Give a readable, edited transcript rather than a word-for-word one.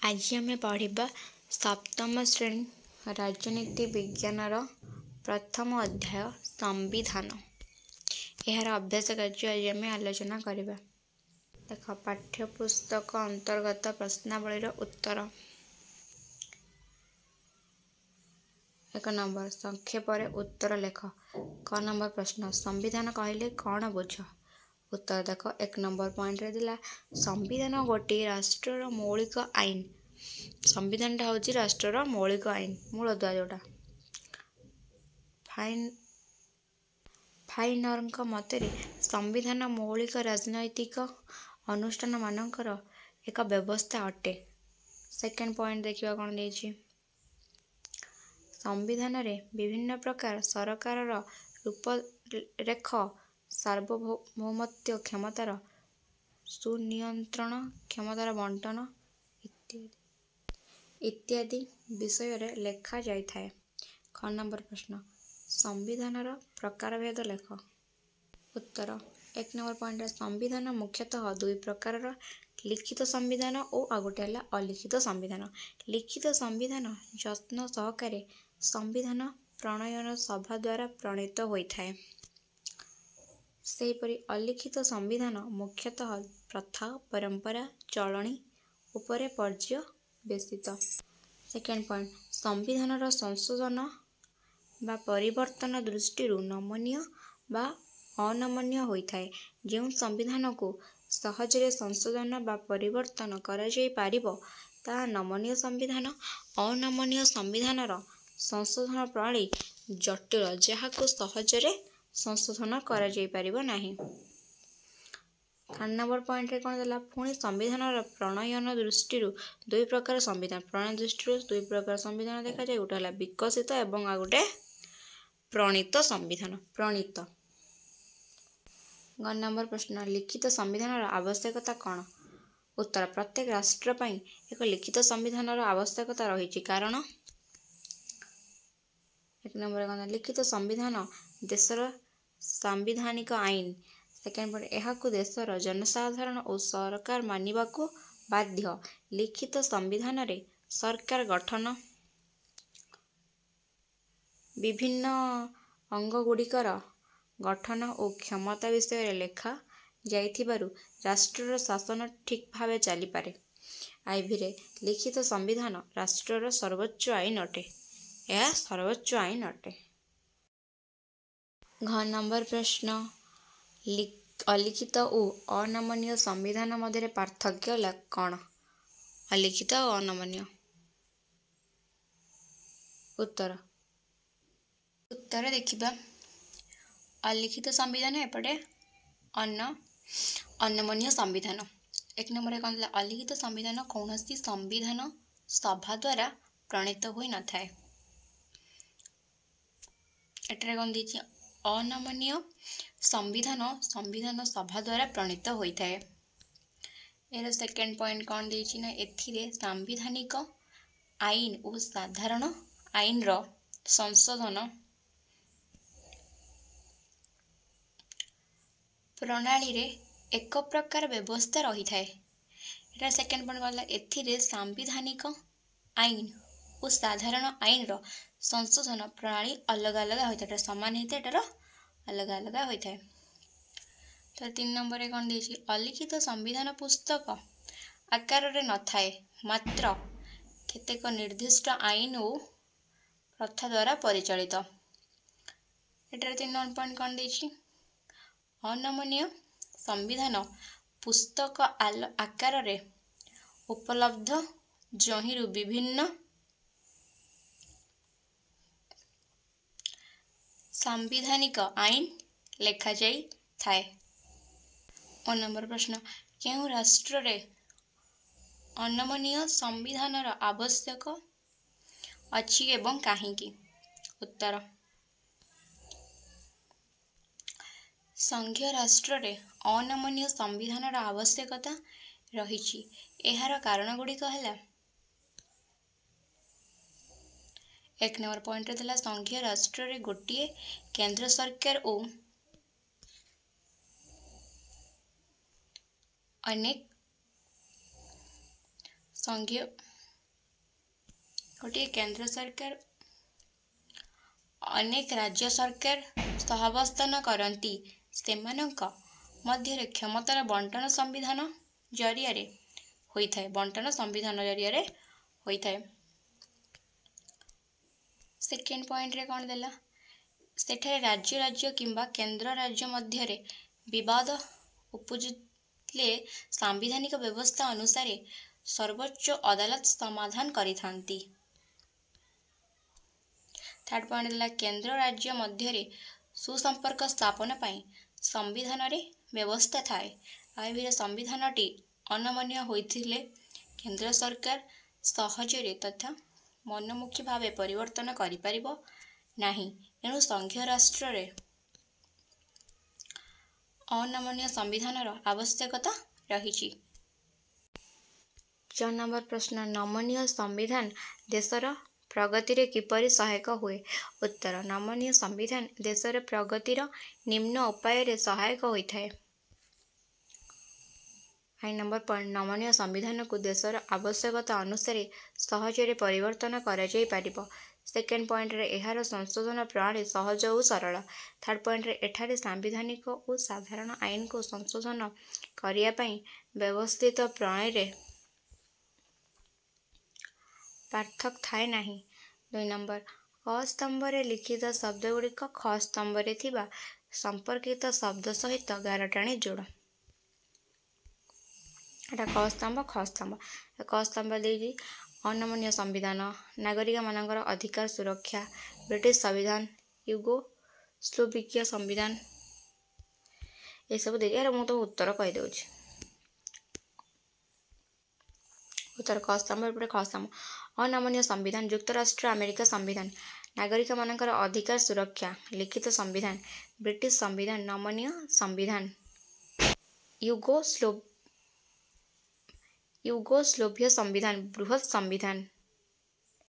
ଆଜି ଆମେ ପଢ଼ିବା ସପ୍ତମ ଶ୍ରେଣୀ ରାଜନୀତି ବିଜ୍ଞାନର ପ୍ରଥମ ଅଧ୍ୟାୟ ସମ୍ବିଧାନ। ଏହାର ଅଭ୍ୟାସ କାର୍ଯ୍ୟ ଆଜି ଆମେ ଆଲୋଚନା କରିବା। ଦେଖ, ପାଠ୍ୟପୁସ୍ତକ ଅନ୍ତର୍ଗତ ପ୍ରଶ୍ନାବଳୀର ଉତ୍ତର। 1 ନମ୍ବର, ସଂକ୍ଷେପରେ ଉତ୍ତର ଲେଖ। କ ନମ୍ବର ପ୍ରଶ୍ନ, ସମ୍ବିଧାନ କହିଲେ କ'ଣ ବୁଝ? ଉତ୍ତର ଦେଖ, 1 ନମ୍ବର ପଏଣ୍ଟରେ ଦେଲା, ସମ୍ବିଧାନ ଗୋଟିଏ ରାଷ୍ଟ୍ରର ମୌଳିକ ଆଇନ। ସମ୍ବିଧାନଟା ହେଉଛି ରାଷ୍ଟ୍ରର ମୌଳିକ ଆଇନ, ମୂଳଦୁଆ ଯେଉଁଟା। ଫାଇନରଙ୍କ ମତରେ ସମ୍ବିଧାନ ମୌଳିକ ରାଜନୈତିକ ଅନୁଷ୍ଠାନମାନଙ୍କର ଏକ ବ୍ୟବସ୍ଥା ଅଟେ। ସେକେଣ୍ଡ ପଏଣ୍ଟ ଦେଖିବା କ'ଣ ଦେଇଛି। ସମ୍ବିଧାନରେ ବିଭିନ୍ନ ପ୍ରକାର ସରକାରର ରୂପରେଖ, ସାର୍ବଭୌମତ୍ୱ କ୍ଷମତାର ସୁନିୟନ୍ତ୍ରଣ, କ୍ଷମତାର ବଣ୍ଟନ ଇତ୍ୟାଦି ଇତ୍ୟାଦି ବିଷୟରେ ଲେଖାଯାଇଥାଏ। ଖ ନମ୍ବର ପ୍ରଶ୍ନ, ସମ୍ବିଧାନର ପ୍ରକାରଭେଦ ଲେଖ। ଉତ୍ତର, 1 ନମ୍ବର ପଏଣ୍ଟରେ ସମ୍ବିଧାନ ମୁଖ୍ୟତଃ ଦୁଇ ପ୍ରକାରର, ଲିଖିତ ସମ୍ବିଧାନ ଓ ଆଉ ଗୋଟେ ହେଲା ଅଲିଖିତ ସମ୍ବିଧାନ। ଲିଖିତ ସମ୍ବିଧାନ ଯତ୍ନ ସହକାରେ ସମ୍ବିଧାନ ପ୍ରଣୟନ ସଭା ଦ୍ୱାରା ପ୍ରଣୀତ ହୋଇଥାଏ। ସେହିପରି ଅଲିଖିତ ସମ୍ବିଧାନ ମୁଖ୍ୟତଃ ପ୍ରଥା, ପରମ୍ପରା, ଚଳଣି ଉପରେ ପର୍ଯ୍ୟବେସିତ। ସେକେଣ୍ଡ ପଏଣ୍ଟ, ସମ୍ବିଧାନର ସଂଶୋଧନ ବା ପରିବର୍ତ୍ତନ ଦୃଷ୍ଟିରୁ ନମନୀୟ ବା ଅନମନୀୟ ହୋଇଥାଏ। ଯେଉଁ ସମ୍ବିଧାନକୁ ସହଜରେ ସଂଶୋଧନ ବା ପରିବର୍ତ୍ତନ କରାଯାଇପାରିବ, ତାହା ନମନୀୟ ସମ୍ବିଧାନ। ଅନମନୀୟ ସମ୍ବିଧାନର ସଂଶୋଧନ ପ୍ରଣାଳୀ ଜଟିଳ, ଯାହାକୁ ସହଜରେ ସଂଶୋଧନ କରାଯାଇପାରିବ ନାହିଁ। ଥାର୍ଡ଼ ନମ୍ବର ପଏଣ୍ଟରେ କ'ଣ ଦେଲା? ପୁଣି ସମ୍ବିଧାନର ପ୍ରଣୟନ ଦୃଷ୍ଟିରୁ ଦୁଇ ପ୍ରକାର ସମ୍ବିଧାନ। ପ୍ରଣୟନ ଦୃଷ୍ଟିରୁ ଦୁଇ ପ୍ରକାର ସମ୍ବିଧାନ ଦେଖାଯାଏ। ଗୋଟେ ହେଲା ବିକଶିତ ଏବଂ ଆଉ ଗୋଟେ ପ୍ରଣୀତ ସମ୍ବିଧାନ। ପ୍ରଣୀତ। ଗ ନମ୍ବର ପ୍ରଶ୍ନ, ଲିଖିତ ସମ୍ବିଧାନର ଆବଶ୍ୟକତା କ'ଣ? ଉତ୍ତର, ପ୍ରତ୍ୟେକ ରାଷ୍ଟ୍ର ପାଇଁ ଏକ ଲିଖିତ ସମ୍ବିଧାନର ଆବଶ୍ୟକତା ରହିଛି। କାରଣ 1 ନମ୍ବର କ'ଣ? ଲିଖିତ ସମ୍ବିଧାନ ଦେଶର ସାମ୍ବିଧାନିକ ଆଇନ। ସେକେଣ୍ଡ ପଏଣ୍ଟ, ଏହାକୁ ଦେଶର ଜନସାଧାରଣ ଓ ସରକାର ମାନିବାକୁ ବାଧ୍ୟ। ଲିଖିତ ସମ୍ବିଧାନରେ ସରକାର ଗଠନ, ବିଭିନ୍ନ ଅଙ୍ଗଗୁଡ଼ିକର ଗଠନ ଓ କ୍ଷମତା ବିଷୟରେ ଲେଖା ଯାଇଥିବାରୁ ରାଷ୍ଟ୍ରର ଶାସନ ଠିକ୍ ଭାବେ ଚାଲିପାରେ। ଆଇଭିରେ ଲିଖିତ ସମ୍ବିଧାନ ରାଷ୍ଟ୍ରର ସର୍ବୋଚ୍ଚ ଆଇନ ଅଟେ। ଏହା ସର୍ବୋଚ୍ଚ ଆଇନ ଅଟେ। ଘ ନମ୍ବର ପ୍ରଶ୍ନ, ଅଲିଖିତ ଓ ଅନମନୀୟ ସମ୍ବିଧାନ ମଧ୍ୟରେ ପାର୍ଥକ୍ୟ କ'ଣ? ଅଲିଖିତ ଓ ଅନମନୀୟ। ଉତ୍ତର, ଉତ୍ତର ଦେଖିବା। ଅଲିଖିତ ସମ୍ବିଧାନ, ଏପଟେ ଅନମନୀୟ ସମ୍ବିଧାନ। 1 ନମ୍ବରରେ କ'ଣ ଥିଲା? ଅଲିଖିତ ସମ୍ବିଧାନ କୌଣସି ସମ୍ବିଧାନ ସଭା ଦ୍ୱାରା ପ୍ରଣୀତ ହୋଇନଥାଏ। ଏଠାରେ କ'ଣ ଦେଇଛି? ଅନମନୀୟ ସମ୍ବିଧାନ ସମ୍ବିଧାନ ସଭା ଦ୍ୱାରା ପ୍ରଣୀତ ହୋଇଥାଏ। ଏହାର ସେକେଣ୍ଡ ପଏଣ୍ଟ କ'ଣ ଦେଇଛି ନା, ଏଥିରେ ସାମ୍ବିଧାନିକ ଆଇନ ଓ ସାଧାରଣ ଆଇନର ସଂଶୋଧନ ପ୍ରଣାଳୀରେ ଏକ ପ୍ରକାର ବ୍ୟବସ୍ଥା ରହିଥାଏ। ଏଟା ସେକେଣ୍ଡ ପଏଣ୍ଟ ଗଲା, ଏଥିରେ ସାମ୍ବିଧାନିକ ଆଇନ ଓ ସାଧାରଣ ଆଇନର ସଂଶୋଧନ ପ୍ରଣାଳୀ ଅଲଗା ଅଲଗା ହୋଇଥାଏ। ଏଟା ସମାନ ହେଇଥାଏ, ଏଟାର ଅଲଗା ଅଲଗା ହୋଇଥାଏ। ତ 3 ନମ୍ବରରେ କ'ଣ ଦେଇଛି? ଅଲିଖିତ ସମ୍ବିଧାନ ପୁସ୍ତକ ଆକାରରେ ନଥାଏ, ମାତ୍ର କେତେକ ନିର୍ଦ୍ଦିଷ୍ଟ ଆଇନ ଓ ପ୍ରଥା ଦ୍ୱାରା ପରିଚାଳିତ। ଏଠାରେ 3 ନମ୍ବର ପଏଣ୍ଟ କ'ଣ ଦେଇଛି? ଅନମନୀୟ ସମ୍ବିଧାନ ପୁସ୍ତକ ଆକାରରେ ଉପଲବ୍ଧ, ଯହିଁରୁ ବିଭିନ୍ନ ସାମ୍ବିଧାନିକ ଆଇନ ଲେଖାଯାଇଥାଏ। ଓ ନମ୍ବର ପ୍ରଶ୍ନ, କେଉଁ ରାଷ୍ଟ୍ରରେ ଅନମନୀୟ ସମ୍ବିଧାନର ଆବଶ୍ୟକ ଅଛି ଏବଂ କାହିଁକି? ଉତ୍ତର, ସଂଘୀୟ ରାଷ୍ଟ୍ରରେ ଅନମନୀୟ ସମ୍ବିଧାନର ଆବଶ୍ୟକତା ରହିଛି। ଏହାର କାରଣଗୁଡ଼ିକ ହେଲା, 1 ନମ୍ବର ପଏଣ୍ଟରେ ଥିଲା, ସଂଘୀୟ ରାଷ୍ଟ୍ରରେ ଗୋଟିଏ କେନ୍ଦ୍ର ସରକାର ଓ ଅନେକ ସଂଘୀୟ ଗୋଟିଏ କେନ୍ଦ୍ର ସରକାର, ଅନେକ ରାଜ୍ୟ ସରକାର ସହାବସ୍ଥାନ କରନ୍ତି। ସେମାନଙ୍କ ମଧ୍ୟରେ କ୍ଷମତାର ବଣ୍ଟନ ସମ୍ବିଧାନ ଜରିଆରେ ହୋଇଥାଏ। ବଣ୍ଟନ ସମ୍ବିଧାନ ଜରିଆରେ ହୋଇଥାଏ। ସେକେଣ୍ଡ ପଏଣ୍ଟରେ କ'ଣ ଦେଲା? ସେଠାରେ ରାଜ୍ୟ ରାଜ୍ୟ କିମ୍ବା କେନ୍ଦ୍ର ରାଜ୍ୟ ମଧ୍ୟରେ ବିବାଦ ଉପୁଜିଲେ ସାମ୍ବିଧାନିକ ବ୍ୟବସ୍ଥା ଅନୁସାରେ ସର୍ବୋଚ୍ଚ ଅଦାଲତ ସମାଧାନ କରିଥାନ୍ତି। ଥାର୍ଡ଼ ପଏଣ୍ଟ ଦେଲା, କେନ୍ଦ୍ର ରାଜ୍ୟ ମଧ୍ୟରେ ସୁସମ୍ପର୍କ ସ୍ଥାପନ ପାଇଁ ସମ୍ବିଧାନରେ ବ୍ୟବସ୍ଥା ଥାଏ। ଆଇଭିରେ ସମ୍ବିଧାନଟି ଅନମନୀୟ ହୋଇଥିଲେ କେନ୍ଦ୍ର ସରକାର ସହଜରେ ତଥା ମନମୁଖୀ ଭାବେ ପରିବର୍ତ୍ତନ କରିପାରିବ ନାହିଁ। ଏଣୁ ସଂଘୀୟ ରାଷ୍ଟ୍ରରେ ଅନମନୀୟ ସମ୍ବିଧାନର ଆବଶ୍ୟକତା ରହିଛି। 4 ନମ୍ବର ପ୍ରଶ୍ନ, ନମନୀୟ ସମ୍ବିଧାନ ଦେଶର ପ୍ରଗତିରେ କିପରି ସହାୟକ ହୁଏ? ଉତ୍ତର, ନମନୀୟ ସମ୍ବିଧାନ ଦେଶର ପ୍ରଗତିର ନିମ୍ନ ଉପାୟରେ ସହାୟକ ହୋଇଥାଏ। 1 ନମ୍ବର ପଏଣ୍ଟ, ନମନୀୟ ସମ୍ବିଧାନକୁ ଦେଶର ଆବଶ୍ୟକତା ଅନୁସାରେ ସହଜରେ ପରିବର୍ତ୍ତନ କରାଯାଇପାରିବ। ସେକେଣ୍ଡ ପଏଣ୍ଟରେ, ଏହାର ସଂଶୋଧନ ପ୍ରଣାଳୀ ସହଜ ଓ ସରଳ। ଥାର୍ଡ଼ ପଏଣ୍ଟରେ, ଏଠାରେ ସାମ୍ବିଧାନିକ ଓ ସାଧାରଣ ଆଇନକୁ ସଂଶୋଧନ କରିବା ପାଇଁ ବ୍ୟବସ୍ଥିତ ପ୍ରଣାଳୀରେ ପାର୍ଥକ୍ୟ ଥାଏ ନାହିଁ। 2 ନମ୍ବର, କ ସ୍ତମ୍ଭରେ ଲିଖିତ ଶବ୍ଦଗୁଡ଼ିକ ଖ ସ୍ତମ୍ଭରେ ଥିବା ସମ୍ପର୍କିତ ଶବ୍ଦ ସହିତ ଗାର ଟାଣି ଯୋଡ଼। ଏଟା କ ସ୍ତମ୍ଭ, ଖ ସ୍ତମ୍ଭ। କ ସ୍ତମ୍ଭ ଦେଇଛି ଅନମନୀୟ ସମ୍ବିଧାନ, ନାଗରିକମାନଙ୍କର ଅଧିକାର ସୁରକ୍ଷା, ବ୍ରିଟିଶ ସମ୍ବିଧାନ, ୟୁଗୋସ୍ଲୋଭିକିଆ ସମ୍ବିଧାନ, ଏସବୁ ଦେଇଛି। ଏହାର ମୁଁ ତ ଉତ୍ତର କହିଦେଉଛି। ଉତ୍ତର କ ସ୍ତମ୍ଭ, ଏପଟେ ଖ ସ୍ତମ୍ଭ। ଅନମନୀୟ ସମ୍ବିଧାନ, ଯୁକ୍ତରାଷ୍ଟ୍ର ଆମେରିକା ସମ୍ବିଧାନ, ନାଗରିକମାନଙ୍କର ଅଧିକାର ସୁରକ୍ଷା, ଲିଖିତ ସମ୍ବିଧାନ, ବ୍ରିଟିଶ ସମ୍ବିଧାନ, ନମନୀୟ ସମ୍ବିଧାନ, ୟୁଗୋସ୍ଲୋଭିୟ ସମ୍ବିଧାନ, ବୃହତ୍ ସମ୍ବିଧାନ।